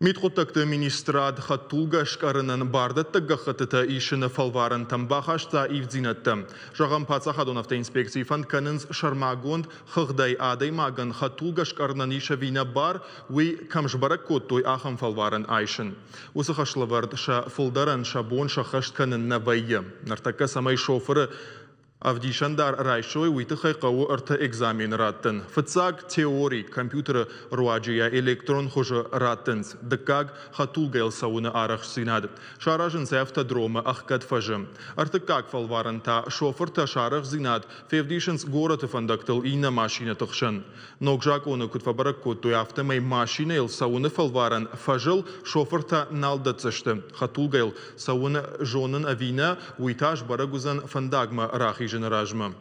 Мидхъуыддӕгты министрад хӕдтулгӕ скъӕрынӕн бардӕттӕг гӕххӕттытӕ исыны фӕлварӕнтӕм бахаста ивддзинӕдтӕ. Зӕгъӕм, паддзахадон автоинспекцийы фӕнд кӕнынц сӕрмагонд хыгъдӕй адӕймагӕн хӕдтулгӕ скъӕрынӕн ис ӕви нӕ бар, уый кӕм сбӕрӕг кодтой, ахӕм фӕлварӕн айсын. Уыцы хӕслӕвӕрд сӕ фылдӕрӕн сӕ бон сӕххӕст кӕнын нӕ вӕййы. Ныртӕккӕ цӕмӕй шофыры ӕвдисӕндар райсой, уый тыххӕй хъӕуы ӕртӕ экзамены раттын. Фыццаг теори компьютеры руаджы йӕ электрон хуызы раттынц. Дыккаг хӕдтулгӕйыл цӕуыны арӕхстдзинад. Саразынц автодромы ӕхгӕд фӕзы. Ӕртыккаг фӕлварӕн та шофыртӕ сӕ арӕхстдзинад февдисынц горӕты фӕндӕгтыл иннӕ машинӕты хсӕн. Ног закъоны куыд фӕбӕрӕг кодтой, афтӕмӕй машинӕйыл цӕуыны фӕлварӕн фӕзыл шофыртӕ нал дӕтдзысты. Хӕдтулгӕйыл цӕуын зонын ӕви нӕ, уый та сбӕрӕг уыдзӕн фӕндагмӕ рахизыны размӕ.